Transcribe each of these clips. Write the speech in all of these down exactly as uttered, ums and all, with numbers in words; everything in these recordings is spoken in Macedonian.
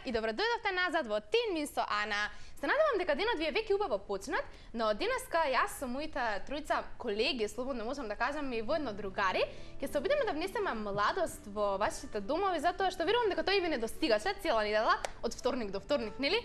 и добро дојдовте назад во Тин Мин со Ана. Се надевам дека денот ви е веќе убаво почнат, но денеска јас со моите тројца колеги, слободно можам да кажам и воедно другари, ќе се обидеме да внесеме младост во вашите домови, затоа што верувам дека тој ви не достигаше цела недела од вторник до вторник, нели?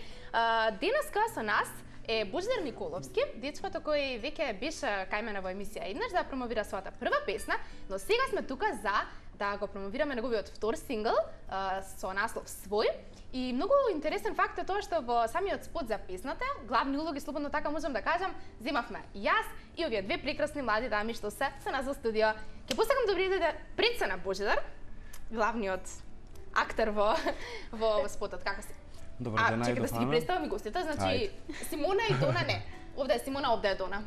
Денеска со нас е Божидар Николовски, дечкото кој веќе беше кај мене во емисија еднаш да промовира својата прва песна, но сега сме тука за да го промовираме неговиот втор сингл а, со наслов Свој. И многу интересен факт е тоа што во самиот спот за песната, главни улоги, слободно така можам да кажам, земавме јас и овие две прекрасни млади дами што се со нас во студио. Ќе посакам да видите пред се на Божидар, главниот актер во во спотот. Како си? Добар ден, чекай да си ги представам и гостите, значи Симона и Дона не. Овде е Симона, овде е Дона.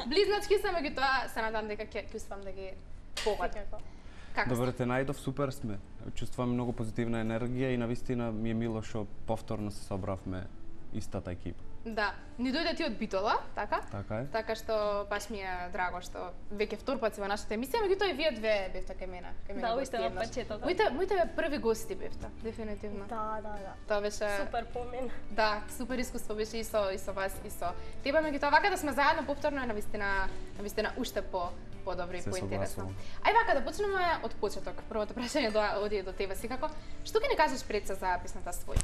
Близначки се, меѓутоа се надам дека ќе успеам да ги повадам. Добар ден, најдов, супер сме. Чувствувам многу позитивна енергија и навистина ми е мило што повторно се собравме истата екипа. Да, ни дојде ти од Битола, така? Така е. Така што баш ми е драго што веќе втор пат си во нашата емисија, меѓутоа и вие две бевте кај мене, кај мене. Да, уисте на пачетото. Моите моите први гости бевте, дефинитивно. Да, да, да. Тоа беше супер помен. Да, супер искуство беше и со и со вас и со тебе, меѓутоа вака да сме заедно повторно е навистина, навистина уште по подобро и поинтересно. Ај вака да почнеме од почеток. Првото прашање до оди до тебе секако. Што ќе ни кажеш пред се за песната Свој?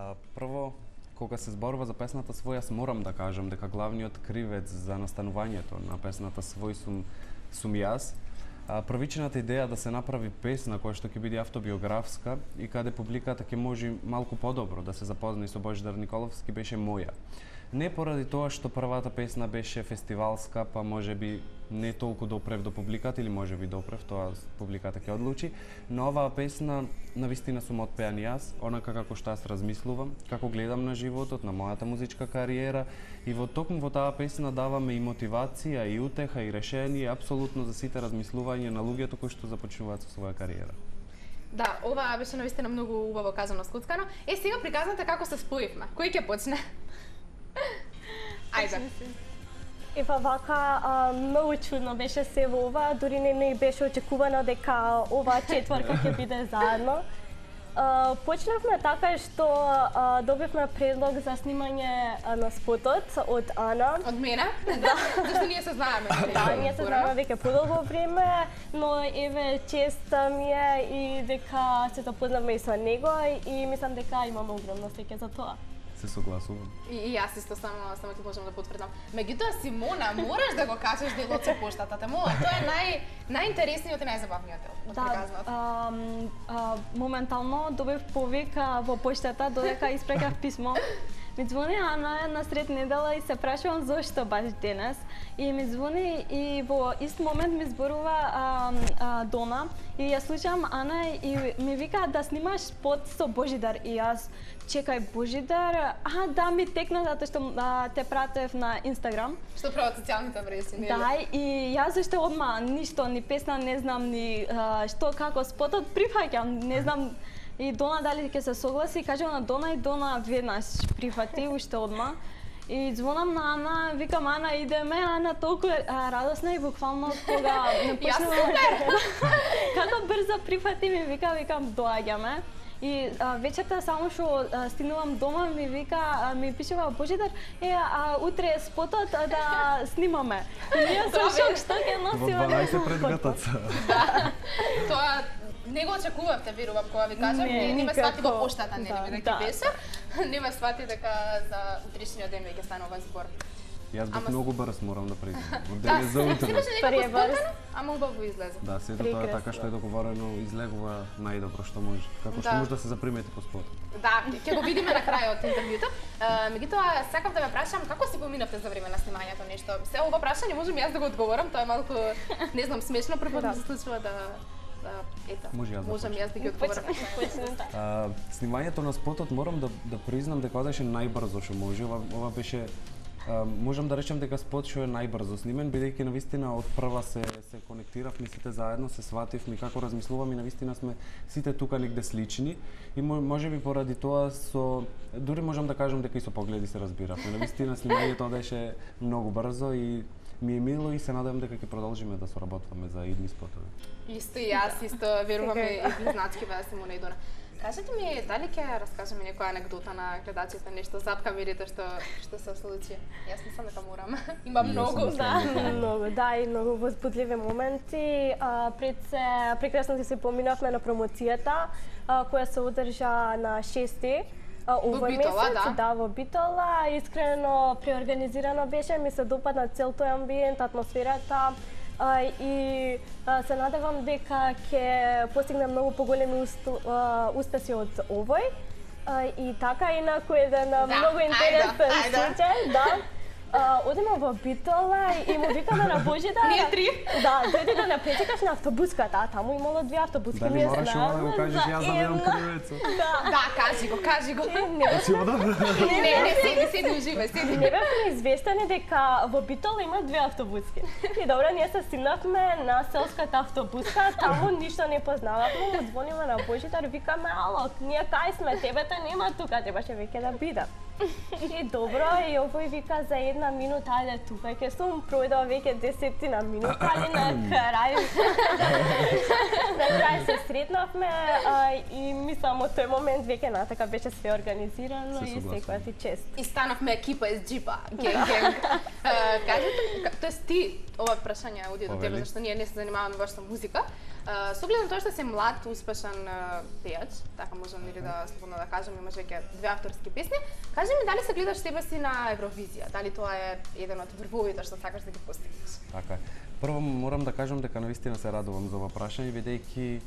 А, прво, кога се зборува за песната Свој, јас морам да кажам дека главниот кривец за настанувањето на песната Свој сум сум јас. А, првичната идеја да се направи песна која што ќе биде автобиографска и каде публиката ќе може малку подобро да се запозна со Божидар Николовски беше моја. Не поради тоа што првата песна беше фестивалска, па можеби не толку допрев до публиката или можеби допрев, тоа публиката ќе одлучи, но оваа песна навистина сум отпеан јас, онака како што јас размислувам, како гледам на животот, на мојата музичка кариера и во токму во таа песна даваме и мотивација, и утеха, и решение апсолутно за сите размислувања на луѓето кои што започнуваат со своја кариера. Да, ова беше навистина многу убаво казано, скуцкано. Е, сега приказнете како се споивме. Кој ќе почне? Ајде. Ева вака, а, многу чудно беше се во ова, дури не не беше очекувано дека ова четврка ќе биде заедно. А, почнавме така што а, добивме предлог за снимање а, на спотот од Ана. Од мене? Да. Зашто ние се знаеме. Да, ние се знаеме веќе подолго време, но еве чест ми е и дека се запознавме и со него и мислам дека имаме огромно среќа за тоа. Се согласувам. И, и јас исто само само ти можам да потврдам. Меѓутоа Симона, мораш да го кажеш делот со поштата, те мола. Тоа е нај најинтересниот и најзабавниот дел од приказната. Да, моментално добив повик во поштата додека испрекав писмо. Ми звони Ана на сред недела и се прашувам зошто баш денес. И ми звони и во ист момент ми зборува а, а, Дона и ја слушам Ана и ми вика да снимаш спот со Божидар и јас чекај Божидар, а да ми текна затоа што а, те пратев на Инстаграм. Што прават социјалните мрежи, нели? Да, и јас уште одма ништо, ни песна не знам, ни а, што како спотот прифаќам, не знам. И Дона дали ќе се согласи, кажам на Дона и Дона веднаш прифати уште одма. И звонам на Ана, викам Ана идеме, Ана толку а, радосна и буквално кога не почнува. Како брзо прифати ми вика, викам доаѓаме. И а, вечерта само што стигнувам дома ми вика, а, ми пишува Божидар, е а, утре е спотот а, да снимаме. И ние со шок што ќе носиме. Во дванаесет предготаца. Да. Тоа не го очекувавте, верувам, кога ви кажам, не, не ме свати во поштата, нели, да, дека ќе беше. Не ме свати дека за утрешниот ден веќе станува збор. Јас бев Ама... многу брз, морам да признам. Од Да, ден за утре. си беше некако спортено, ама убаво излезе. Да, сето тоа е така што е договорено, излегува најдобро што може. Како што Да. може да се запримети по спотот. Да, ќе го видиме на крајот интервјуто. Меѓутоа, сакав да ве прашам како си поминавте за време на снимањето нешто. Се ова прашање можам јас да го одговорам, тоа е малку, не знам, смешно, прв пат ми се случува да да ето. Може јас да можам јас да ги одговорам. А, снимањето на спотот морам да да признам дека одеше најбрзо што може. Ова, ова беше а, можам да речем дека спот што е најбрзо снимен, бидејќи навистина од прва се се конектиравме сите заедно, се свативме како размислуваме и навистина сме сите тука негде слични и можеби поради тоа со дури можам да кажам дека и со погледи се разбиравме. Навистина снимањето одеше многу брзо и ми е мило и се надевам дека ќе продолжиме да соработваме за идни спотови. Исто и јас, исто верувам и близначки беа Симона и Дона. Кажете ми, дали ќе раскажеме некоја анекдота на гледачите, нешто зад камерите што што се случи? Јас мислам дека морам. Има многу, да. Многу, да, и многу возбудливи моменти. А, пред се прекрасно се поминавме на промоцијата, а, која се одржа на шести овој месец, да. да, во Битола. Искрено преорганизирано беше, ми се допадна цел тој амбиент, атмосферата. Uh, и uh, се надевам дека ќе постигнем многу поголеми uh, успеси од овој. Uh, и така, инаку еден да, многу интересен случај, да. Uh, одиме во Битола и му викаме на Божидар. Ние три? Да, дојде да не пречекаш на автобуската, а таму имало две автобуски. Дали мораш ова да го кажеш, јас да видам кривецот? Да. Да, кажи го, кажи го. Не, си одам? Не, не, седи, седи, уживај, седи. Не бевме известени дека во Битола има две автобуски. И добро, ние се стигнавме на селската автобуска, таму ништо не познававме, му звониме на Божидар, викаме, ало, ние кај сме, тебе те нема тука, требаше веќе да бидам. И добро, и овој вика за една минута, ајде тука, ќе сум пројдова веќе десетина минута, али на крај. На крај се сретнавме а, и мислам од тој момент веќе натака беше све организирано и секоја ти чест. И станавме екипа из джипа, генг генг. Кажете, тоест ти ова прашање оди до тебе зашто ние не се занимаваме баш со музика. Со оглед на тоа што си млад, успешен пејач, така можам нели да слободно да кажам, имаш веќе две авторски песни. Кажи ми дали се гледаш себе си на Евровизија? Дали тоа е еден од врвовите што сакаш да ги постигнеш? Така е. Прво морам да кажам дека навистина се радувам за ова прашање, бидејќи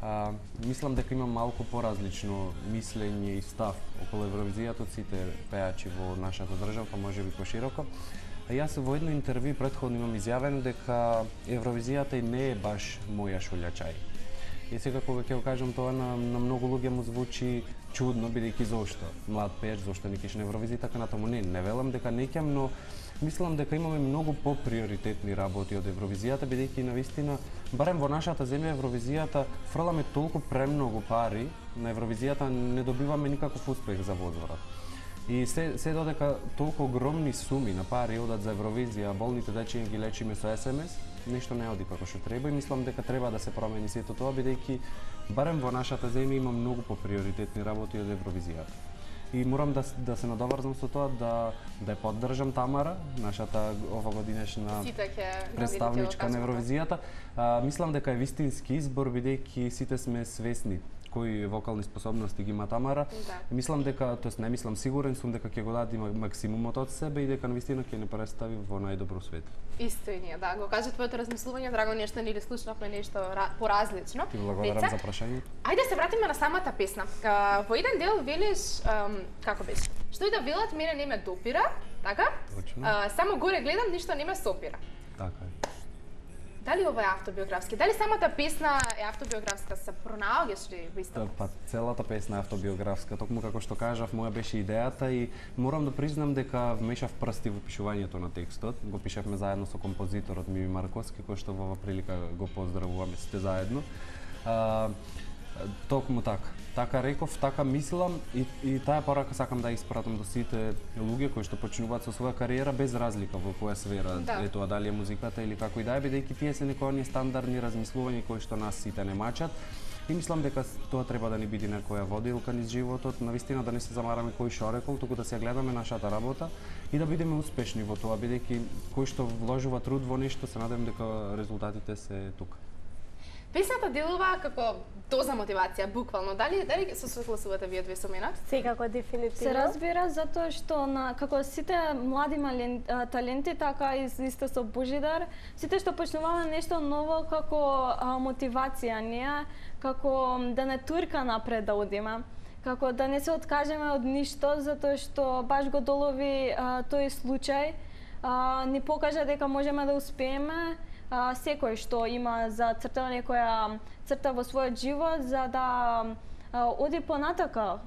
а, мислам дека имам малку поразлично мислење и став околу Евровизијата од сите пејачи во нашата држава, па можеби пошироко. А јас во едно интервју претходно имам изјавено дека Евровизијата и не е баш моја шулјачај. И сега кога ќе го кажам тоа на, на многу луѓе му звучи чудно, бидејќи зошто млад пејач, зошто не кеш на Евровизија, така натаму не, не велам дека не ќам, но мислам дека имаме многу поприоритетни работи од Евровизијата, бидејќи навистина, барем во нашата земја Евровизијата фрламе толку премногу пари, на Евровизијата не добиваме никаков успех за возврат. И се, се додека толку огромни суми на пари одат за Евровизија, болните дечиња ги лечиме со ес ем ес, нешто не оди како што треба и мислам дека треба да се промени сето тоа, бидејќи барем во нашата земја има многу поприоритетни работи од Евровизијата. И морам да, да се надоврзам со тоа да да ја поддржам Тамара, нашата овогодинешна представничка на Евровизијата. А, мислам дека е вистински избор, бидејќи сите сме свесни кои вокални способности ги има Тамара. Да. Мислам дека, тоест не мислам, сигурен сум дека ќе го даде максимумот од себе и дека навистина ќе не представи во најдобро свет. Исто и ние, да, го кажа твоето размислување, драго нешто ни ли слушнавме нешто поразлично. Ти благодарам за прашањето. Ајде се вратиме на самата песна. Uh, во еден дел велиш, um, како беше? Што и да велат, мене не ме допира, така? Uh, само горе гледам, ништо не ме сопира. Така е. Дали ова е автобиографски? Дали самата песна е автобиографска? Се пронаоѓаш ли во истата? Па целата песна е автобиографска, токму како што кажав, моја беше идејата и морам да признам дека вмешав прсти во пишувањето на текстот. Го пишавме заедно со композиторот Мими Марковски, кој што во ова прилика го поздравуваме сите заедно. А, токму така. Така реков, така мислам и, и таа порака сакам да испратам до сите луѓе кои што почнуваат со своја кариера без разлика во која сфера да. е тоа, дали е музиката или како и да е, бидејќи тие се некои оние стандардни размислувања кои што нас сите не мачат. И мислам дека тоа треба да ни биде некоја водилка низ животот, навистина да не се замараме кој што рекол, туку да се гледаме нашата работа и да бидеме успешни во тоа, бидејќи кој што вложува труд во нешто, се надевам дека резултатите се тука. Песната делува како доза мотивација, буквално. Дали дали се согласувате вие две со мене? Секако дефинитивно. Се разбира затоа што на како сите млади мален, таленти, така и исто со Божидар, сите што почнуваме нешто ново како а, мотивација ние, како да не турка напред да одиме, како да не се откажеме од ништо, затоа што баш го долови а, тој случај, а, ни покажа дека можеме да успееме. А, секој што има за цртана некоја црта во својот живот за да а, оди понатака.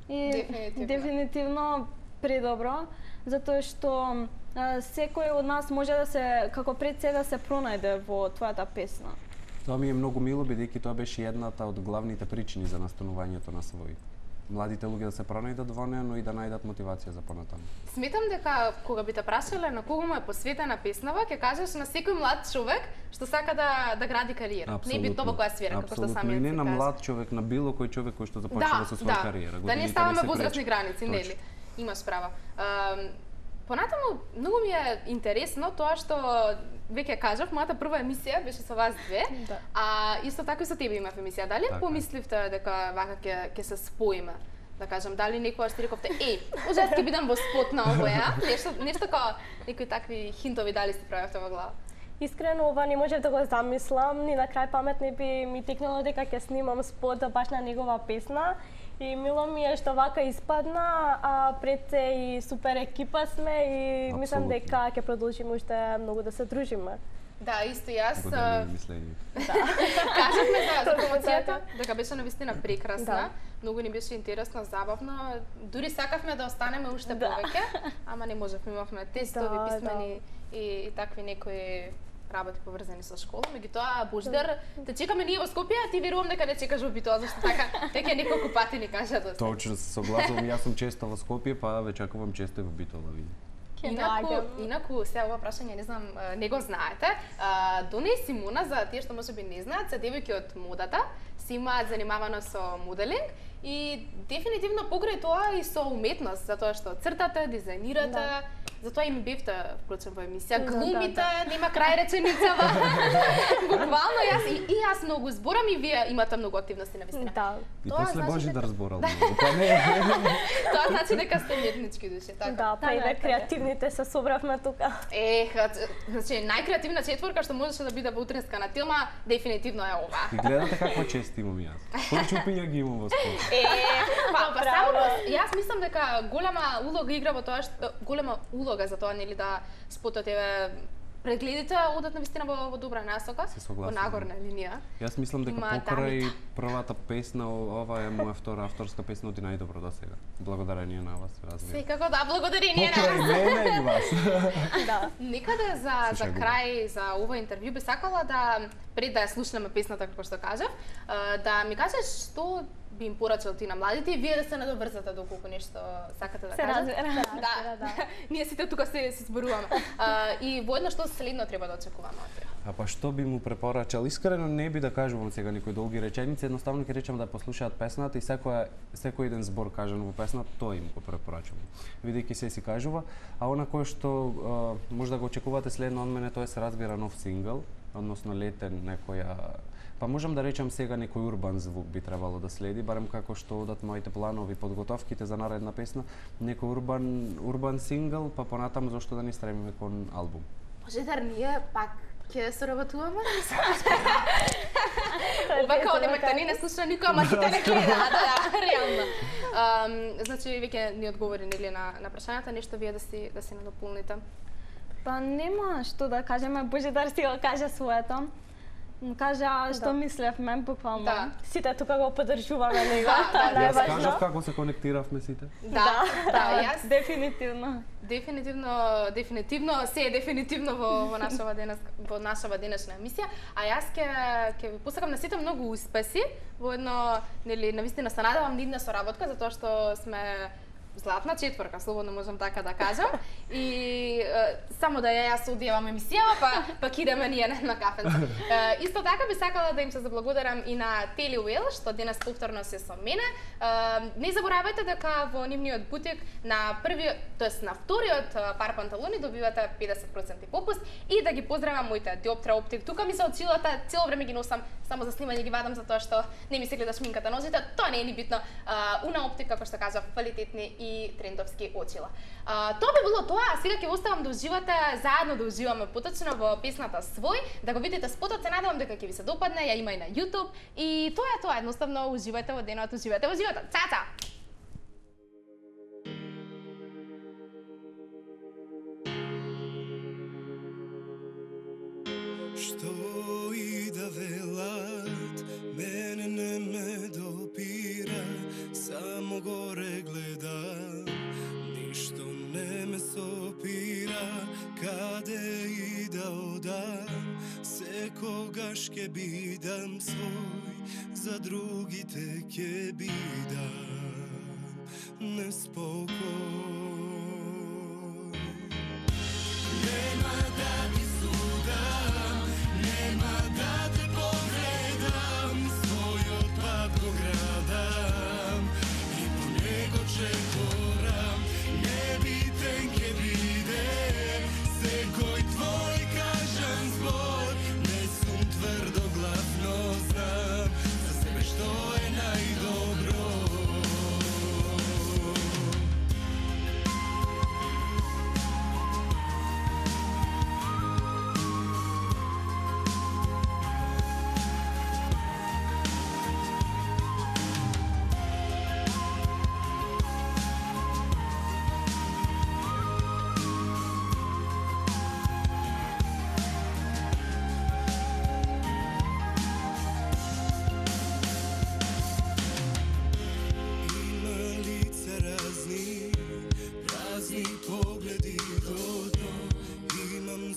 И дефинитивно, дефинитивно предобро, затоа што а, секој од нас може да се како пред се да се пронајде во твојата песна. Тоа ми е многу мило, бидејќи тоа беше едната од главните причини за настанувањето на Свој. младите луѓе да се пронајдат во неа, но и да најдат мотивација за понатаму. Сметам дека кога би те прашале на кого му е посветена песнава, ќе кажеш на секој млад човек што сака да да гради кариера. Не битно во која сфера, како што самиот и не си на кажа. млад човек, на било кој човек кој што започнува Да, со своја да. кариера. Да не ставаме возрастни граници, нели? Имаш права. Ам, Понатаму, многу ми е интересно тоа што веќе кажав, мојата прва емисија беше со вас две, Да. а исто така и со тебе имав емисија. Дали Така. помисливте дека вака ќе ќе се споиме? Да кажам, дали некогаш ти рековте, еј, ужас ќе бидам во спот на овоја, нешто нешто како некои такви хинтови дали си правевте во глава? Искрено ова не можев да го замислам, ни на крај памет не би ми текнало дека ќе снимам спот баш на негова песна. И мило ми е што вака испадна, а пред се и супер екипа сме и мислам Апсолутно. дека ќе продолжиме уште многу да се дружиме. Да, исто и јас. Години мислење. Кажавме за, за Точно промоцијата, така. дека беше навистина прекрасна, Да. многу ни беше интересно, забавно. Дури сакавме да останеме уште Да. повеќе, ама не можевме, имавме тестови, Да, писмени и, и такви некои работи поврзани со школа. Меѓутоа, Божидар, те чекаме ние во Скопје, а ти верувам дека не чекаш во Битола, зашто така веќе неколку пати ни кажа да се. Точно се согласувам, јас сум често во Скопје, па ве чекувам често и во Битола, види. Ќе Инаку, најдем. инаку сега ова прашање не знам, а, не го знаете. А, Доне и Симона, за тие што можеби не знаат, се девојки од модата, си имаат занимавано со моделинг и дефинитивно покрај тоа и со уметност, затоа што цртате, дизајнирате, Да. затоа и ми бевте впрочем во емисија, Да, глумите, да, нема крај реченицава. Буквално јас и, и јас многу зборам и вие имате многу активности на вистина. Да. И Тоа после значи Божидар дека- зборал многу, па не. Тоа значи дека сте уметнички души, така. Да, па и Така е, ве така е. креативните се собравме тука. Ех, значи најкреативна четворка што можеше да биде во утренска на Тилма, дефинитивно е ова. И гледате каква чест имам јас. Кои чупиња ги имам во спорт. Е, па, па Браво. само јас мислам дека голема улога игра во тоа што голема улога за тоа нели да спотот еве прегледите одат на вистина во, во добра насока, Се во согласувам. нагорна линија. Јас мислам дека Има покрај дамите. првата песна, о- ова е моја втора авторска песна, оди најдобро до сега. Благодарение на вас, разбира. Секако да, благодарение на Покрај вас. мене и вас. Да. Некаде за Се за шегувам. крај за ова интервју би сакала да пред да ја слушнеме песната како што кажав, а, да ми кажеш што би им порачал ти на младите и вие да се надоврзате доколку нешто сакате да Се кажете. разбира. Да, да. Ние сите тука се се зборуваме. А, и воедно што следно треба да очекуваме од тебе. А па што би му препорачал? Искрено не би да кажувам сега некои долги реченици, едноставно ќе речам да послушаат песната и секоја секој еден збор кажан во песната, тоа им го препорачувам. Бидејќи се си кажува, а она кое што а, може да го очекувате следно од мене, тоа се разбира нов сингл, односно летен некоја. Па можам да речам сега некој урбан звук би требало да следи, барем како што одат моите планови, подготовките за наредна песна, некој урбан урбан сингл, па понатаму зошто да не стремиме кон албум. Божидар, ние пак ќе соработуваме? Ова као дека те не слуша никој, ама ти те не гледа, да, да, реално. Ам, значи веќе ни одговори нели на на прашањата, нешто вие да си да си надополните. Па нема што да кажеме, Божидар си го кажа своето. Му кажа што Да. мислевме буквално. Да. Сите тука го поддржуваме него, Да, тоа да, е Јас кажав најважно. како се конектиравме сите. Да, да, јас Дефинитивно. дефинитивно, дефинитивно, се е дефинитивно во, во нашава денес, во нашава денешна емисија, а јас ќе ќе ви посакам на сите многу успеси, во едно, нели, навистина се надевам нидна соработка, затоа што сме златна четворка, слободно можам така да кажам. И е, само да ја јас одјавам емисијава, па па идеме ние на, на кафенце. Е, исто така би сакала да им се заблагодарам и на Тели Уел што денес повторно се со мене. Е, не заборавајте дека во нивниот бутик на првиот, тоест на вториот е, пар панталони добивате педесет проценти попуст и да ги поздравам моите Диоптра оптик. Тука ми се очилата, цело време ги носам само за снимање ги вадам затоа што не ми се гледа шминката нозите. Тоа не е ни битно. Е, Уна оптик, како што кажав, квалитетни и трендовски очила. А, тоа би било тоа, а сега ќе оставам да уживате, заедно да уживаме поточно во песната Свој, да го видите спотот, се надевам дека ќе ви се допадне, ја има и на YouTube. И тоа е тоа, едноставно уживајте во денот, уживајте во животот. Цаца! Што и да велат, мене не ме допира, само горе гледам, ништо не ме сопира, каде и да одам, секогаш ке бидам свој, за другите ке бидам. неспокој. Нема да ти судам, нема да те погледам, својот пат го градам и по него чекорам. Небитен ке биде секој твој кажан збор, не сум тврдоглав, но знам за себе што е најдобро.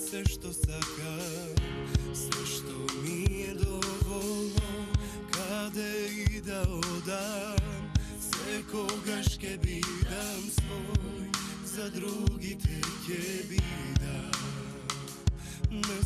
Се што сакам, се што ми е доволно, каде и да одам, секогаш ке бидам свој, за другите ке бидам. Не